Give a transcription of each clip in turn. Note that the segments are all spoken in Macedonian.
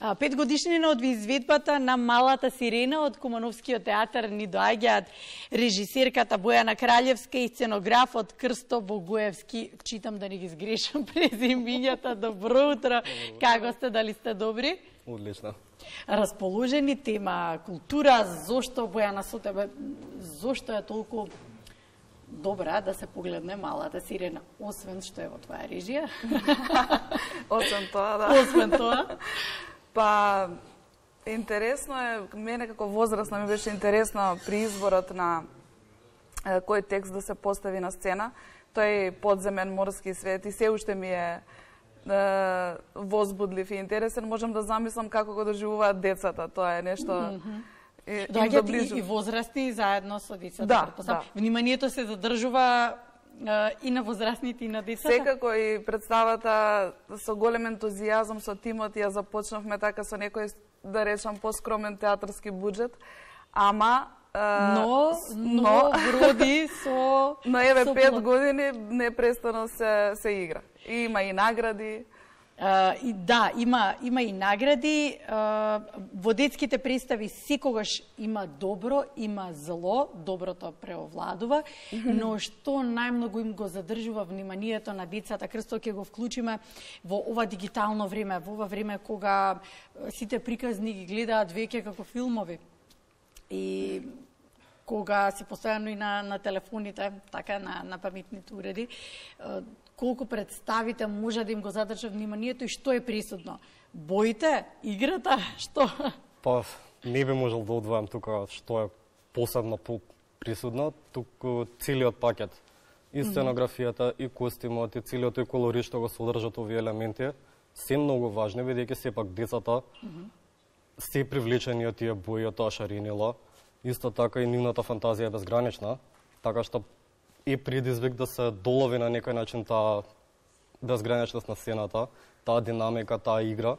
5 годишнина од изведбата на Малата сирена од Кумановскиот театар ни доаѓаат режисерката Бојана Краљевска и сценографот Крсто Богуевски. Читам да не ги сгрешам презимињата. Добро утро. Како сте, дали сте добри? Одлично. Расположени, тема култура. Зошто, Бојана, со тебе, зошто е толку добра да се погледне Малата сирена, освен што е во твоја режија? Освен тоа, да. Освен тоа? Па, интересно е, мене како возрастна ми беше интересно при изборот на кој текст да се постави на сцена. Тој подземен морски свет и се уште ми е возбудлив и интересен. Можам да замислам како го доживуваат децата. Тоа е нешто... Доаѓаат и возрастни заедно со децата. Да. Вниманието се задржува и на возрастните и на децата? Секако и представата со голем ентузијазам со тимот ја започнавме така со некој, да речам, поскромен театарски буџет, ама но вроди со... Но еве 5 години непрестано се игра. И има и награди. И да, има и награди. Во детските представи секогаш има добро, има зло, доброто преовладува, но што најмногу им го задржува вниманието на децата, Крсто ќе го вклучиме во ова дигитално време, во ова време кога сите приказни ги гледаат веќе како филмови. И кога си постојано и на телефоните, така на паметните уреди, колку представите може да им го задржа вниманието и што е присутно? Боите, играта, што? Па, не би можел да одвојам тука што е посебно присутно, туку целиот пакет. И сценографијата, и костимот, и целиот тој колорит што го содржат овие елементи, се многу важни, бидејќи сепак децата се привлечени од тие бои, од тоа шаренило. Исто така и нивната фантазија е безгранична, така што и предизвик да се долови на некој начин таа безграничност на сцената, таа динамика, таа игра.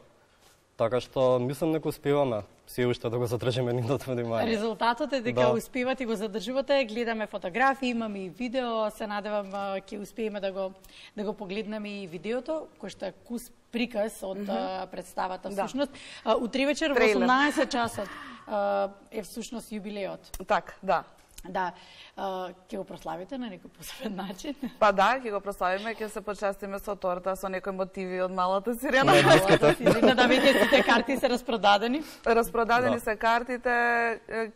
Така што мислам дека успеваме се уште да го задржиме нивното внимание. Резултатот е дека успевате и го задржувате, гледаме фотографии, имаме и видео, се надевам ќе успееме да го погледнеме и видеото, кој што е кус приказ од представата всушност. Утре вечер во 18 часот е всушност јубилеот. Так, да. Да, ќе го прославите на некој посебен начин? Па да, ќе го прославиме, ќе се почастиме со торта, со некои мотиви од Малата сирена. Да, веќе сите карти се распродадени? Распродадени се картите,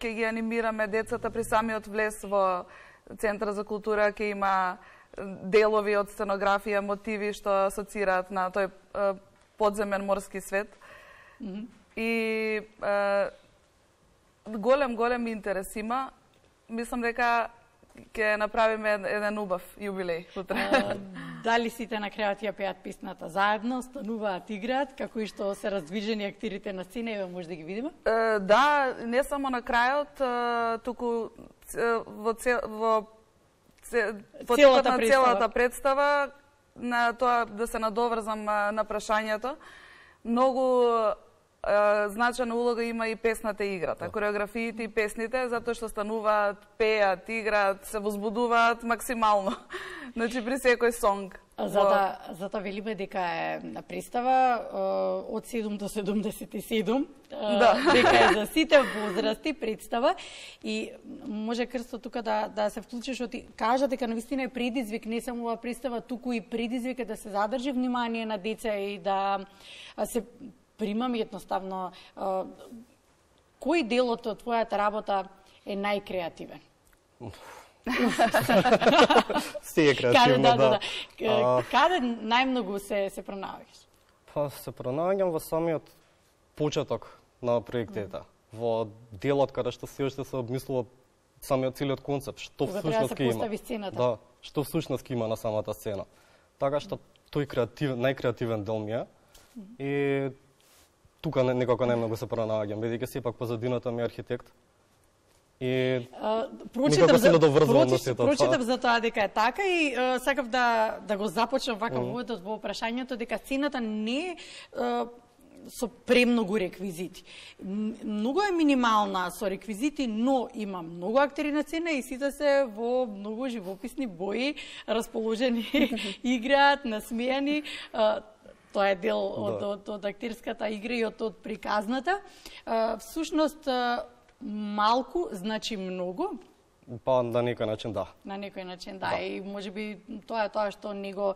ќе ги анимираме децата при самиот влез во Центар за култура, ќе има делови од сценографија, мотиви што асоцираат на тој подземен морски свет. И голем интерес има. Мислам дека ќе направиме еден убав јубилеј утре. Дали сите на крајот ја пеат песната заедно, стануваат, играат, како и што се раздвижени актерите на сцена, еве може да ги видиме? Да, не само на крајот, туку во целата представа, на тоа да се надоврзам на прашањето. Многу значајна улога има и песната и играта, кореографиите и песните, затоа што стануваат, пеат, играат, се возбудуваат максимално. Значи при секој сонг. Затоа велиме дека е на представа од 7 до 77, дека е за сите возрасти представа и може Крсто тука да се вклучиш, кажа дека навистина е предизвик не само ова представа, туку и предизвик е да се задржи внимание на деца и да се примам едноставно, кој делот од твојата работа е најкреативен? Се е креативно, да. Каде најмногу се пронаоѓаш? Па се пронаоѓам во самиот почеток на проектите, во делот каде што се уште се обмислува самиот целиот концепт, што всушност ќе има. Да, што всушност ќе има на самата сцена. Така што тој најкреативен дел ми е и тука некако најмногу се пронаоѓам, бидејќи сепак позадината ми е архитект. И прочитав за тоа дека е така и сакав да го започнам вака во прашањето дека сцената не е со премногу реквизити. Многу е минимална со реквизити, но има многу актери на сцена и сите се во многу живописни бои, расположени, играат, насмејани. тоа е дел од актерската игра и од приказната. Всушност, малку значи многу. Па на некој начин да. На некој начин да. И можеби тоа е тоа што не го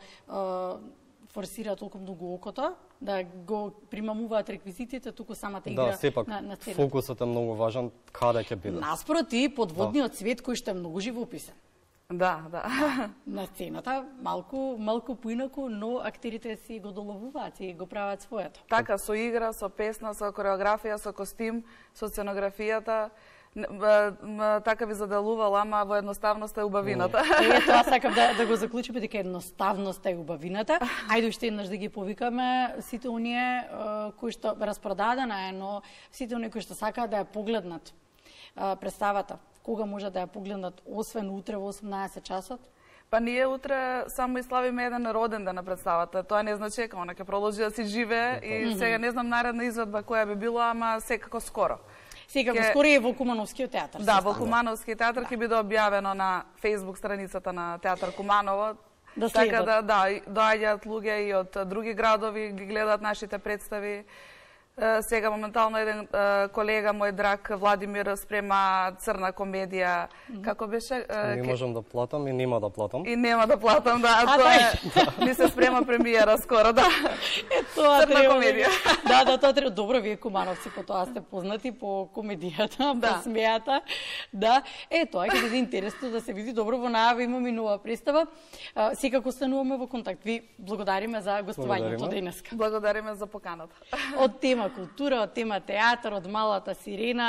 форсира толку многу окото, да го примамуваат реквизитите, туку самата игра да, сепак, на сцената. Фокусот е многу важен, каде ќе биде. Наспроти, подводниот свет кој што е многу живописен. Да. На сцената малку поинаку, но актерите си го доловуваат и го прават своето. Така, со игра, со песна, со кореографија, со костим, со сценографијата, така ви заделувала, ама во едноставноста е убавината. Тоа сакам да го заклучиме, дека едноставноста е убавината. Ајде уште еднаш да ги повикаме сите оние кои што распродадена е, но сите оние кои што сакаат да ја погледнат представата. Кога може да ја погледнат, освен утре во 18 часот? Па ние утре само и славиме еден роден ден на представата. Тоа не значи дека она ќе продолжи да си живее и сега не знам наредна изведба која би била, ама секако скоро. Секако скоро е во Кумановскиот театар. Да, во Кумановски театар ќе биде објавено на Facebook страницата на Театар Куманово. Така да, доаѓаат луѓе и од други градови, ги гледаат нашите представи. Сега моментално еден колега мој драг Владимир спрема црна комедија. Како беше? Не можам да платам и нема да платам. И нема да платам, да. Тоа е. Ни се спрема премиера скоро, да. Тоа црна комедија. Да, тоа треба. Добро, вие кумановци по тоа сте познати по комедијата, по смејата. Да. Тоа ќе биде интересно да се види. Добро, во најава имаме нова представа. Секако остануваме во контакт. Ви благодариме за гостувањето денеска. Благодариме за поканата. Од тема култура, од тема театар, од малата сирена.